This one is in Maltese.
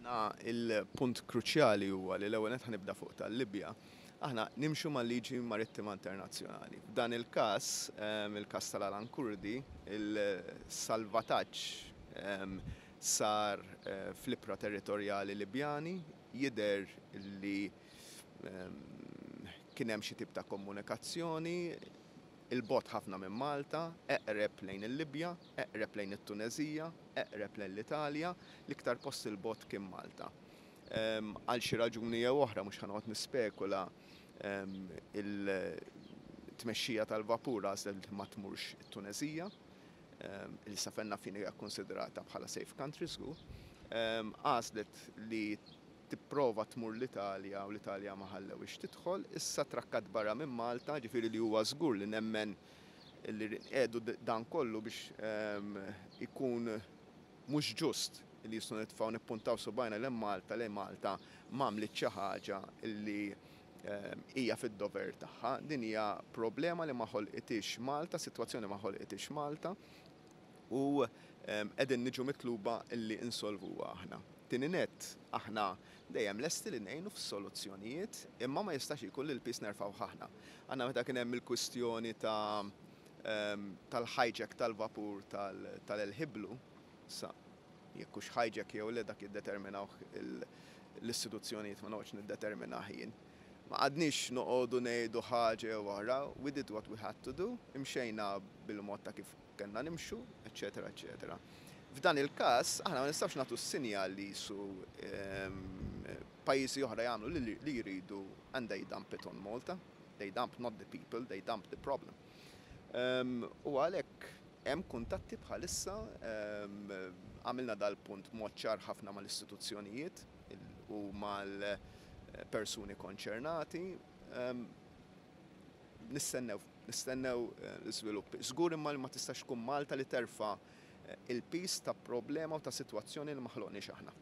Aħna il-punt kruċjali huwa li l-ewwel nett, ħa nibda fuq tal-Libja. Aħna nimxu mal-liġi marittima internazzjonali. F'dan il-każ, il-każ tal-Alan Kurdi, il-salvataġġ sar fl-ibħra territorjali Libjani, jidher li kien hemm xi tip ta' komunikazzjoni 'il bogħod ħafna minn Malta, eqreb lejn il-Libja, eqreb lejn it-Tuneżija, eqreb lejn l-Italja, l-iktar post 'il bogħod kien Malta. Għal xi raġuni jew oħra, mhux ħa noqgħod nispekula, il-tmexxija tal-vapur għażlet li ma tmurx it-Tuneżija, li sa fejn naf jien hija konsiderata bħala safe country żgur. Għażlet li tipprova tmur l-Italja u l-Italja ma ħallewhiex tidħol, issa trakkat barra minn Malta, ġifieri li huwa żgur li nemmen li qiegħdu dan kollu biex ikun mhux ġust li jistgħu nitfgħu nippuntaw subgħajna lejn Malta li Malta m'għamlet xi ħaġa li hija fid-dover tagħha. Din hija problema li ma ħolqitix Malta, sitwazzjoni ma ħolqitix Malta u qegħdin niġu mitluba li insolvuha aħna. Tieni net, aħna dejjem lesti li ngħinu f'soluzzjonijiet, imma ma jistax ikun li l-piż nerfgħu aħna. Għandna meta kien hemm il-kwistjoni ta' tal-hijack tal-vapur tal-El Hiblu, sa jekk hux hijack jew le dak jiddeterminawh l-istituzzjonijiet, ma noqgħodx niddeterminah jien. Ma qgħadniex noqogħdu ngħidu ħaġa jew oħra, we did what we had to do, imxejna bil-mod ta' kif kellna nimxu, eċetera, eċetera. F'dan il-każ, aħna ma nistgħux nagħtu s-sinjal li su pajjiżi oħra jagħmlu li jridu and they dump it on Malta. They dump not the people, they dump the problem. U għalhekk hemm kuntatti bħalissa, għamilna dal-punt mod ċar ħafna mal-istituzzjonijiet u mal-persuni konċernati. Nistennew l-iżviluppi. Żgur imma li ma tistax tkun Malta li terfa' il-piż ta' problema u ta' sitwazzjoni li ma ħloqniex aħna.